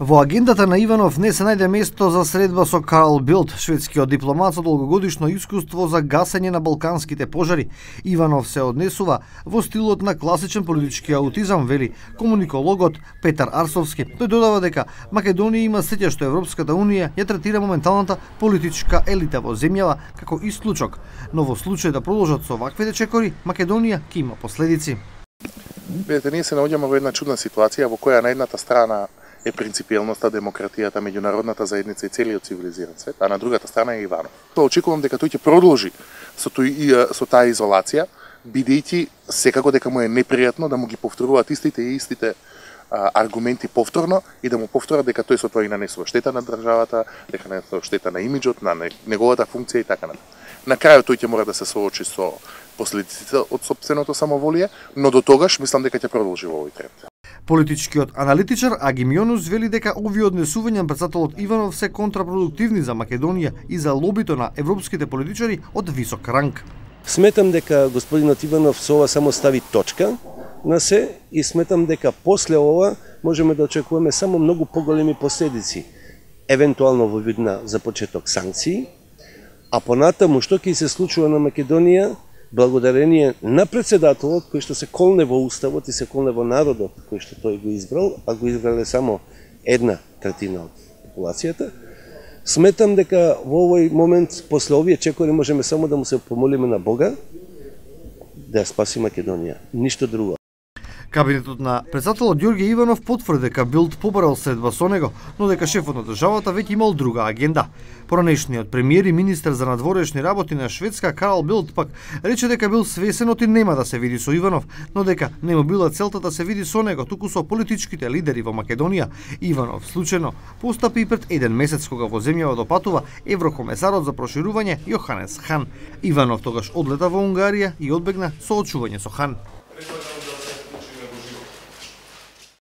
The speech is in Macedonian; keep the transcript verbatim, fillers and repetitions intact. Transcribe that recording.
Во агендата на Иванов не се најде место за средба со Карл Билт, шведскиот дипломат со долгогодишно искуство за гасење на балканските пожари. Иванов се однесува во стилот на класичен политички аутизам, вели комуникологот Петар Арсовски. Тој додава дека Македонија има среќа што Европската унија ја третира моменталната политичка елита во земјава како исклучок, но во случај да продолжат со ваквите чекори, Македонија ќе има последици. Видете, ние се наоѓаме во една чудна ситуација во која на едната страна е принципиелноста, демократијата, меѓународната заедница и целиот цивилизиран свет, а на другата страна е Иванов. Тоа очекувам дека тој ќе продолжи со, тој, со таа изолација, бидејќи секако дека му е непријатно да му ги повторуваат истите и истите а, аргументи повторно и да му повторат дека тој со тоа и нанесува штета на државата, дека нанесува штета на имиџот, на неговата функција и така натаму. На крајот тој ќе мора да се соочи со последиците од сопственото самоволие, но до тогаш мислам дека ќе продолжи во овој тренд. Политичкиот аналитичар Агим Јонус вели дека овие однесувања на претседателот Иванов се контрапродуктивни за Македонија и за лобито на европските политичари од висок ранг. Сметам дека господинот Иванов со ова само стави точка на се и сметам дека после ова можеме да очекуваме само многу поголеми последици, евентуално во вид на за почеток санкции, а понатаму што ќе се случува на Македонија благодарение на претседателот кој што се колне во уставот и се колне во народот кој што тој го избрал, а го избрале само една третина од популацијата. Сметам дека во овој момент после овие чекори можеме само да му се помолиме на Бога да ја спаси Македонија, ништо друго. Кабинетот на претседателот Ѓорѓе Иванов потврди дека Билт побарал средба со него, но дека шефот на државата веќе имал друга агенда. Поранешниот премиер и министер за надворешни работи на Шведска Карл Билт пак рече дека бил свесен од и нема да се види со Иванов, но дека не му била целта да се види со него, туку со политичките лидери во Македонија. Иванов случајно постапи и пред еден месец кога во земјава допатува еврокомесарот за проширување Јоханес Хан. Иванов тогаш одлета во Унгарија и одбегна соочување со Хан.